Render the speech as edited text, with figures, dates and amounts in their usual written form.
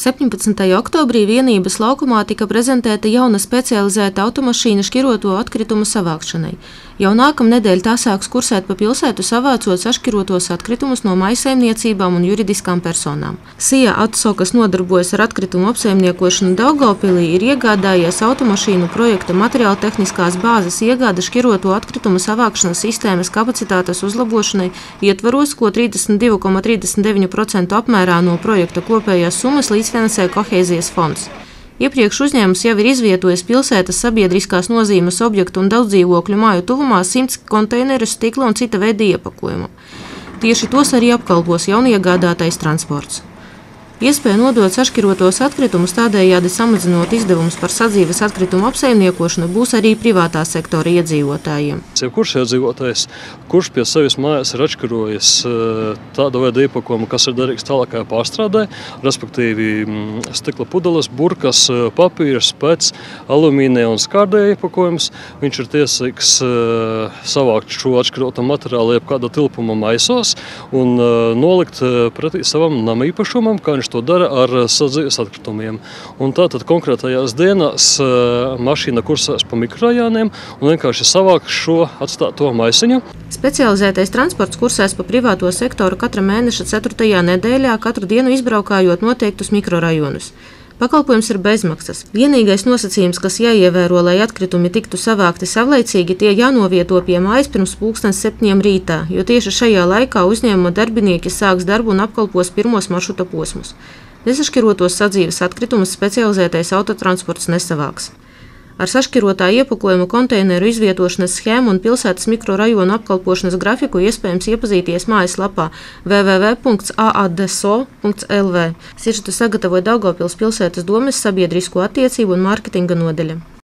17. oktobrī vienības laukumā tika prezentēta jauna specializēta automašīna šķiroto atkritumu savākšanai. Jau nākamnedēļ tā sāks kursēt pa pilsētu, savācot sašķirotos atkritumus no mājsaimniecībām un juridiskām personām. SIA ATSO, kas nodarbojas ar atkritumu apsaimniekošanu Daugavpilī, ir iegādājies automašīnu projekta materiāla tehniskās bāzes iegāde šķiroto atkritumu savākšanas sistēmas kapacitātes uzlabošanai ietvaros, ko 32,39% apmērā no projekta kopējās summas līdzfinansē Kohēzijas fonds. Iepriekš uzņēmums jau ir izvietojis pilsētas sabiedriskās nozīmes objektu un daudzdzīvokļu māju tuvumā 100 konteinerus, stikla un cita veida iepakojumu. Tieši tos arī apkalpos jauniegādātais transports. Iespēja nodot sašķirotos atkritumus, tādējādi samazinot izdevumus par sadzīves atkritumu apsaimniekošanu, būs arī privātā sektora iedzīvotājiem. Kurš iedzīvotājs, kurš pie sevis mājās ir atšķirojis tādu veidu iepakojumu, kas ir derīgs tālākajā pārstrādē, respektīvi stikla pudeles, burkas, papīrs, pēc alumīnija un skārdēja iepakojumus, viņš ir tiesīgs savākt šo atšķiroto materiālu jebkāda tilpuma maisos un nolikt pretī savam namīpašumam, kā viņš to dara ar sadzīves atkritumiem. Un tātad konkrētajās dienās mašīna kursēs pa mikrorajoniem un vienkārši savāks šo atstāto maisiņu. Specializētais transports kursēs pa privāto sektoru katra mēneša 4. nedēļā, katru dienu izbraukājot noteiktus mikrorajonus. Pakalpojums ir bezmaksas. Vienīgais nosacījums, kas jāievēro, lai atkritumi tiktu savākti savlaicīgi, tie jānovieto pie mājas pirms 7:00 rītā, jo tieši šajā laikā uzņēmuma darbinieki sāks darbu un apkalpos pirmos maršruta posmus. Nesašķirotos sadzīves atkritumus specializētais autotransports nesavāks. Ar sašķirotā iepakojuma konteineru izvietošanas schēmu un pilsētas mikrorajonu apkalpošanas grafiku iespējams iepazīties mājaslapā www.aadso.lv. Sižetu sagatavoja Daugavpils pilsētas domes sabiedrisko attiecību un mārketinga nodaļa.